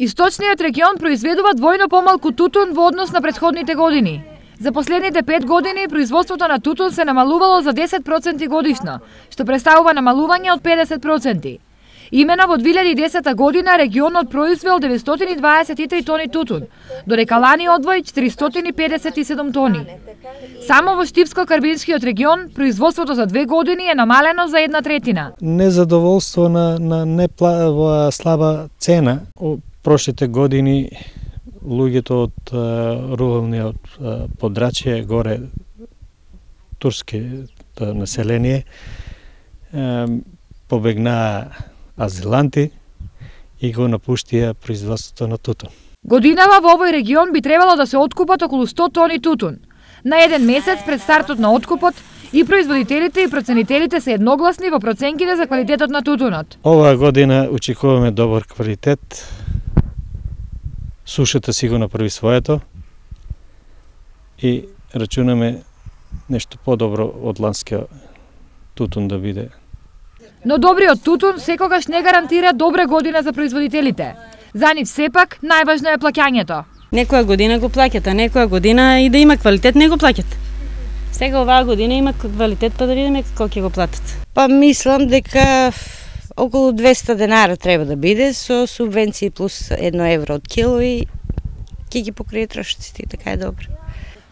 Источниот регион произведува двојно помалку тутун во однос на претходните години. За последните 5 години производството на тутун се намалувало за 10% годишно, што представува намалување од 50%. Имено во 2010 година регионот произвел 923 тони тутун, додека лани одвои 457 тони. Само во Штипско-Карбинскиот регион производството за 2 години е намалено за 1/3. Незадоволство на слаба цена. Прошлите години луѓето од руралниот подрачје, горе турски население, побегнаа азиланти и го напуштија производството на тутун. Годинава во овој регион би требало да се откупат околу 100 тони тутун. На еден месец пред стартот на откупот и производителите и проценителите се едногласни во проценките за квалитетот на тутунот. Оваа година очекуваме добар квалитет. Сушата си го направи своето и рачунаме нешто подобро од ланскиот тутун да биде. Но добриот тутун секогаш не гарантира добра година за производителите. За нив сепак најважно е плаќањето. Некоја година го плаќат, а некоја година и да има квалитет не го плаќат. Сега оваа година има квалитет, па да видиме колку ќе го платат. Па мислам дека околу 200 денара треба да биде со субвенции плюс 1 евро од кило и ќе ги покрие трошоците, така е добро.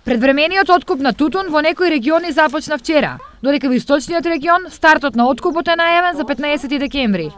Предвремениот откуп на тутун во некои региони започна вчера, додека во источниот регион стартот на откупот е најавен за 15 декември.